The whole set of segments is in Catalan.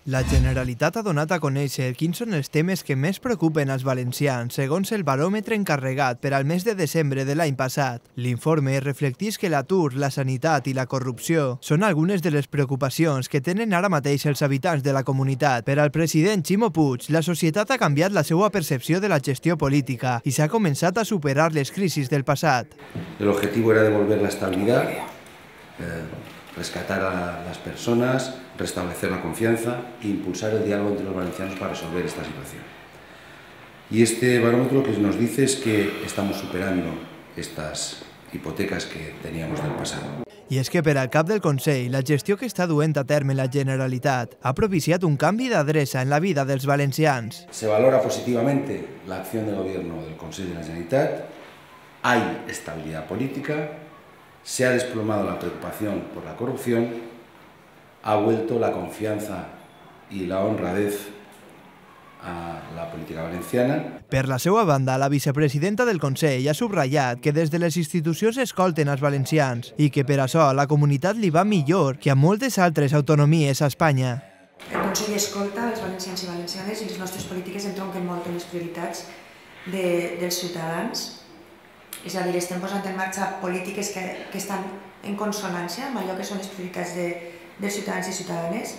La Generalitat ha donat a conèixer quins són els temes que més preocupen als valencians, segons el baròmetre encarregat per al mes de desembre de l'any passat. L'informe reflecteix que l'atur, la sanitat i la corrupció són algunes de les preocupacions que tenen ara mateix els habitants de la comunitat. Per al president Ximo Puig, la societat ha canviat la seva percepció de la gestió política i s'ha començat a superar les crisis del passat. El objetivo era devolver la estabilidad, rescatar a las personas, restablecer la confianza e impulsar el diálogo entre los valencianos para resolver esta situación. Y este barómetro lo que nos dice es que estamos superando estas hipotecas que teníamos del pasado. I és que per al cap del Consell, la gestió que està duent a terme la Generalitat ha propiciat un canvi d'adreça en la vida dels valencians. Se valora positivamente la acción del Gobierno del Consell de la Generalitat, hay estabilidad política, se ha desplomado la preocupación por la corrupción, ha vuelto la confianza y la honradez a la política valenciana. Per la seva banda, la vicepresidenta del Consell ha subratllat que des de les institucions escolten els valencians i que per això a la comunitat li va millor que a moltes altres autonomies a Espanya. El Consell escolta els valencians i valencianes i les nostres polítiques entronquen molt en les prioritats dels ciutadans. És a dir, estem posant en marxa polítiques que estan en consonància amb allò que són les prioritats dels ciutadans i ciutadanes.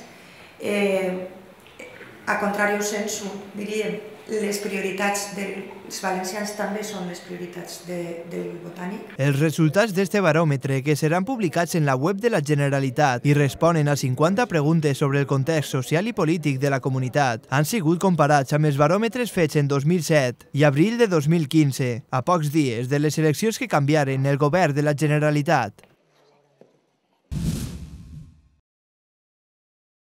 A contrari sensu, diríem, les prioritats dels valencians també són les prioritats del Botànic. Els resultats d'este baròmetre, que seran publicats en la web de la Generalitat i responen a 50 preguntes sobre el context social i polític de la comunitat, han sigut comparats amb els baròmetres fets en 2007 i abril de 2015, a pocs dies de les eleccions que canviaren el govern de la Generalitat.